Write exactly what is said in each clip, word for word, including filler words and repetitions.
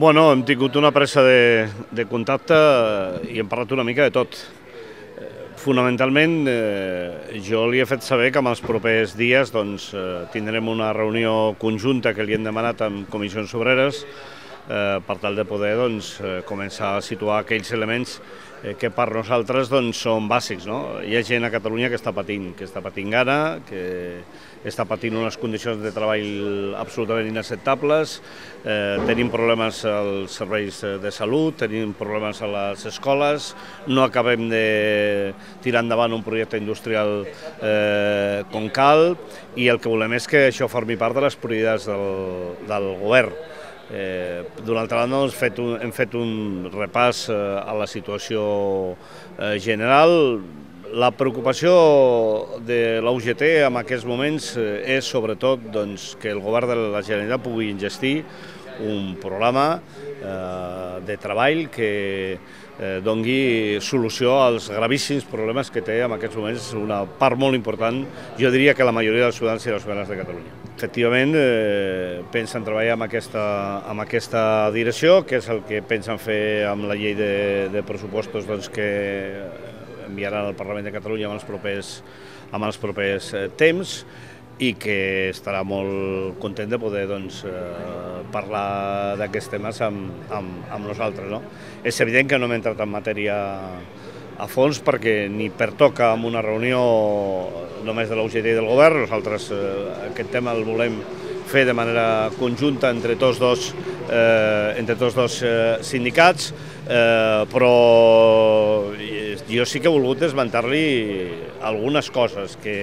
Bueno, hem tingut una pressa de, de contacte i hem parlat una mica de tot. Fonamentalment, eh, jo li he fet saber que en els propers dies doncs, eh, tindrem una reunió conjunta que li hem demanat amb comissions obreres eh, per tal de poder doncs, eh, començar a situar aquells elements eh, que per nosaltres doncs, són bàsics. No? Hi ha gent a Catalunya que està patint, que està patint gana, que està patint unes condicions de treball absolutament inacceptables, eh, tenim problemes als serveis de salut, tenim problemes a les escoles, no acabem de tirar endavant un projecte industrial eh, com cal, i el que volem és que això formi part de les prioritats del, del govern. Eh, D'una altra banda, doncs, fet un, hem fet un repàs eh, a la situació eh, general. La preocupació de la U G T en aquests moments eh, és sobretot doncs, que el govern de la Generalitat pugui engestir un programa eh, de treball que eh, doni solució als gravíssims problemes que té en aquests moments una part molt important, jo diria que la majoria dels ciutadans i les ciutadanes de Catalunya. Efectivament, eh, pensen treballar amb aquesta, amb aquesta direcció, que és el que pensen fer amb la llei de, de pressupostos doncs, que enviaran al Parlament de Catalunya en els propers, en els propers eh, temps, i que estarà molt content de poder doncs, eh, parlar d'aquests temes amb, amb, amb nosaltres. No? És evident que no hem entrat en matèria a fons perquè ni pertoca en una reunió només de la U G T i del govern. Nosaltres eh, aquest tema el volem fer de manera conjunta entre tots dos, eh, entre tots dos eh, sindicats, eh, però jo sí que he volgut esmentar-li algunes coses que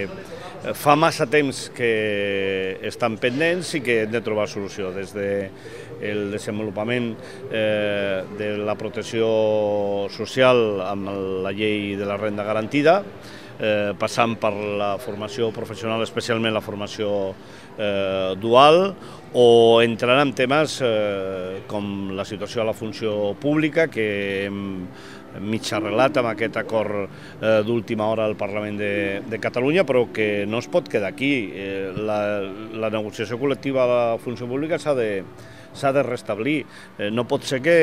fa massa temps que estan pendents i que hem de trobar solució, des del desenvolupament eh, de la protecció social amb la llei de la renda garantida, eh, passant per la formació professional, especialment la formació eh, dual, o entrant en temes eh, com la situació a la funció pública, que hem mig arreglat amb aquest acord eh, d'última hora al Parlament de, de Catalunya, però que no es pot quedar aquí. Eh, la, la negociació col·lectiva a la funció pública s'ha de s'ha de restablir. Eh, no pot ser que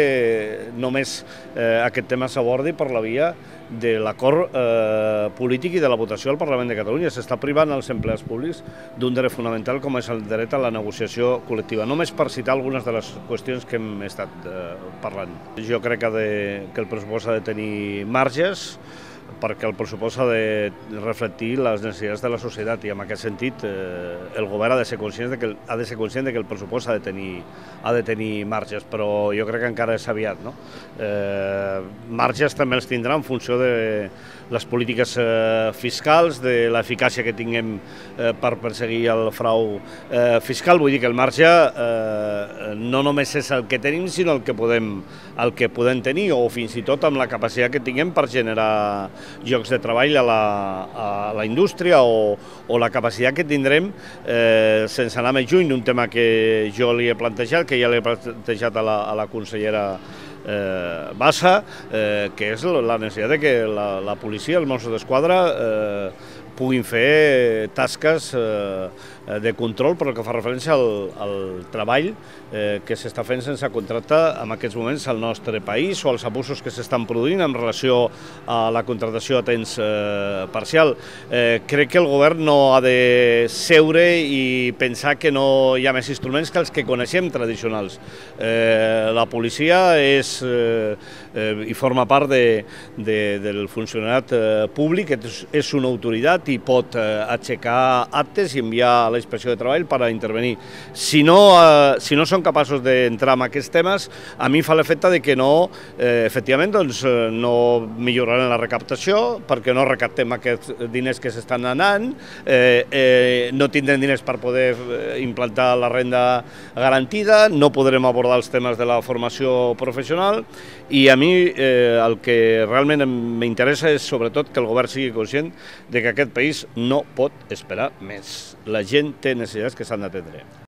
només eh, aquest tema s'abordi per la via de l'acord eh, polític i de la votació al Parlament de Catalunya. S'està privant els empleats públics d'un dret fonamental com és el dret a la negociació col·lectiva. Només per citar algunes de les qüestions que hem estat eh, parlant. Jo crec que, de, que el pressupost ha de tenir marges, perquè el pressupost ha de reflectir les necessitats de la societat, i en aquest sentit eh, el govern ha de ser conscient de que el, ha de ser conscient de que el pressupost ha de tenir, ha de tenir marges, però jo crec que encara és aviat. No? Eh, marges també els tindrà en funció de les polítiques eh, fiscals, de l'eficàcia que tinguem eh, per perseguir el frau eh, fiscal. Vull dir que el marge eh, no només és el que tenim, sinó el que podem, el que podem tenir, o fins i tot amb la capacitat que tinguem per generar llocs de treball a la, a la indústria, o, o la capacitat que tindrem, eh, sense anar més lluny, d'un tema que jo li he plantejat, que ja l'he plantejat a la, a la consellera Eh, Bassa, eh, que és la necessitat de que la, la policia, els Mossos d'Esquadra, eh, puguin fer tasques eh, de control per el que fa referència al, al treball eh, que s'està fent sense contracte en aquests moments al nostre país, o als abusos que s'estan produint en relació a la contractació a temps eh, parcial. Eh, crec que el govern no ha de seure i pensar que no hi ha més instruments que els que coneixem tradicionals. Eh, la policia és eh, eh, i forma part de, de, del funcionariat eh, públic, és, és una autoritat i pot eh, aixecar actes i enviar a la Inspecció de Treball per a intervenir. Si no, eh, si no són capaços d'entrar en aquests temes, a mi fa l'efecte de que no, eh, efectivament, doncs, eh, no milloraran la recaptació, perquè no recaptem aquests diners que s'estan anant, eh, eh, no tindrem diners per poder implantar la renda garantida, no podrem abordar els temes de la formació professional, i a mi eh, el que realment m'interessa és sobretot que el govern sigui conscient de que aquest país no pot esperar més. La gent té necessitats que s'han d'atendre.